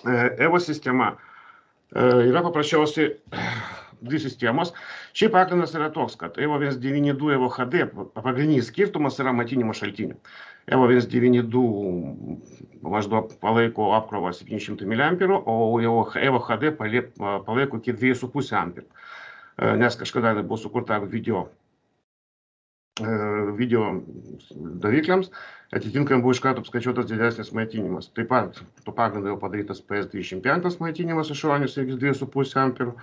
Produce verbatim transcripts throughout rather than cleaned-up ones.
EVO sistema yra paprasčiausiai dvi sistemos. Šiaip pagrindas yra toks, kad EVO vienas devyni du EVO H D pagrindinis skirtumas yra maitinimo šaltinių. EVO vienas devyni du maždaug palaiko apkrovą septyni šimtai miliamperų, o EVO H D palaiko iki dviejų su puse amperų. Nes kažkada buvo sukurta video, video davikliams, atitinkamai buvo iš karto apskaičiuotas didesnis maitinimas. Taip pat tuo pagrindu jau padarytas P S dvidešimt penki maitinimas išorinis iki dviejų su puse amperų.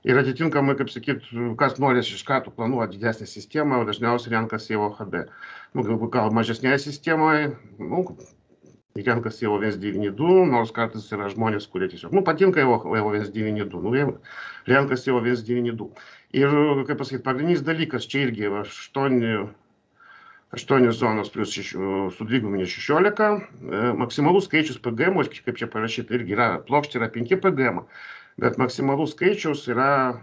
Ir atitinkamai, kaip sakyt, kas norės iš karto planuoti didesnę sistemą, dažniausiai renkasi EVO H D. Nu, gal mažesnėje sistemoje, nu, renkasi EVO vienas devyni du, nors kartais yra žmonės, kurie tiesiog, nu, patinka EVO vienas devyni du, nu, renkasi EVO vienas devyni du. Ir, kaip pasakyti, pagrindinis dalykas čia irgi aštuonios zonos plus sudvigubinė šešiolika, maksimalus skaičius P G M, kaip čia parašyta, irgi yra plokštė yra penki P G M. Bet maksimalus skaičius yra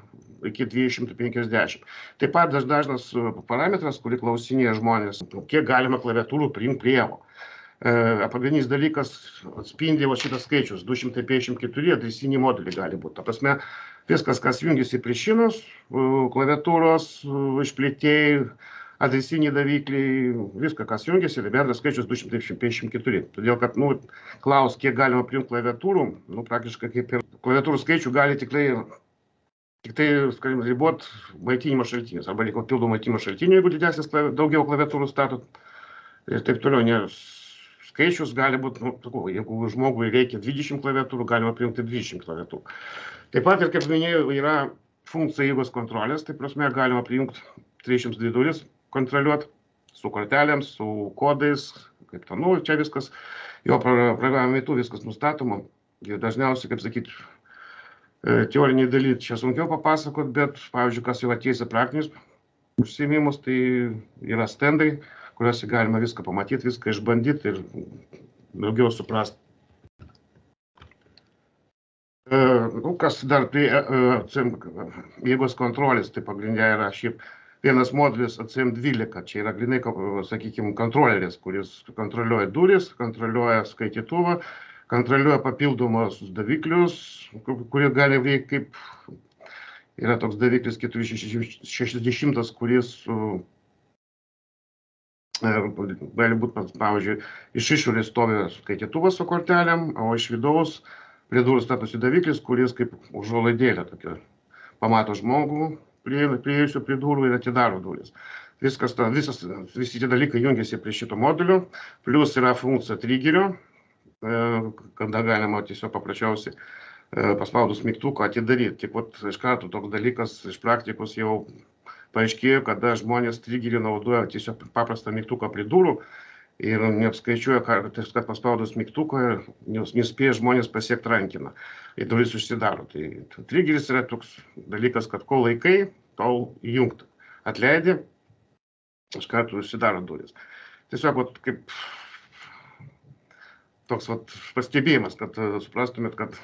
iki dviejų šimtų penkiasdešimt. Taip pat dažnas parametras, kurį klausinėja žmonės, kiek galima klaviatūrų priimti prie EVO. Pagrindinis dalykas atspindi šitas skaičius, du šimtai penkiasdešimt keturi adresiniai moduliai gali būti. Ta prasme, viskas, kas jungiasi prie šinos, klaviatūros, išplėtėjai, adresiniai davikliai, viską, kas jungiasi, ir bendras skaičius du šimtai penkiasdešimt keturi. Todėl, kad, nu, klaus, kiek galima priimti klaviatūrų, nu, praktiškai kaip ir klaviatūrų skaičių gali tikrai, tiktai, skalim, ribot maitinimo šaltinius, arba reikia papildomų maitinimo šaltinių, jeigu didesnis, daugiau klaviatūrų statot, ir taip toliau, nes skaičius gali būti, nu, jeigu žmogui reikia dvidešimt klaviatūrų, galima priimti dvidešimt klaviatūrų. Taip pat, ir kaip minėjau, yra funkcija jėgos kontrolės, tai prasme, galima priimti trisdešimt dvi duris, kontroliuoti su kortelėm, su kodais, kaip ten, nu, čia viskas, jo programų metu viskas nustatoma. Ir dažniausiai, kaip sakyti, teoriniai dalykai čia sunkiau papasakot, bet, pavyzdžiui, kas jau atėjusi praktinius užsiėmimus, tai yra stendai, kuriuose galima viską pamatyti, viską išbandyti ir daugiau suprasti. Nu, kas dar prie jėgos kontrolės, tai pagrindė yra šiaip vienas modulis A C M dvylika, čia yra grinai, sakykime, kontroleris, kuris kontroliuoja duris, kontroliuoja skaitytuvą, kontroliuoja papildomus daviklius, kurie gali veikti kaip, yra toks daviklis keturi šešiasdešimt, kuris gali būti, pavyzdžiui, iš išorės stovi skaitytuvas su kortelėm, o iš vidaus prie durų statosi daviklis, kuris kaip užuolaidėlė tokia pamato žmogų, priėjusių prie durų ir atidaro duris. Viskas, visas, visi tie dalykai jungiasi prie šito modulio, plus yra funkcija trigerio, kada galima tiesiog paprasčiausiai paspaudus mygtuką atidaryti. Tik vat iš karto toks dalykas iš praktikos jau paaiškėjo, kada žmonės trigerį naudoja tiesiog paprastą mygtuką prie durų ir neapskaičiuoja, kad paspaudus mygtuką nespėja žmonės pasiekti rankiną ir duris užsidaro. Tai trigeris yra toks dalykas, kad kol laikai, tol įjungta. Atleidi, iš karto užsidaro duris. Tiesiog vat, kaip toks vat, pastebėjimas, kad suprastumėt, kad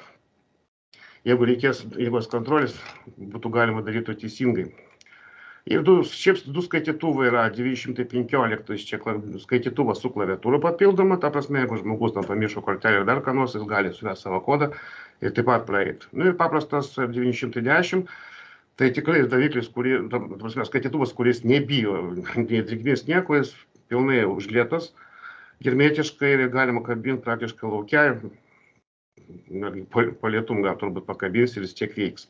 jeigu reikės jėgos kontrolės, būtų galima daryti teisingai. Ir du, šiaip du skaitytuvai yra devyni šimtai penkiolika, čia skaitytuvas su klaviatūra papildoma, ta prasme, jeigu žmogus tam pamiršo kortelę ir dar ką nors, jis gali suvesti savo kodą ir taip pat praeiti. Nu ir paprastas devyni šimtai dešimt, tai tikrai daviklis, kurį, ta prasme, skaitytuvas, kuris nebijo, nei drėgmės nieko, jis pilnai užlietas, hermetiškai ir galima kabinti praktiškai laukia, po lietum gal turbūt pakabins ir jis tiek veiks.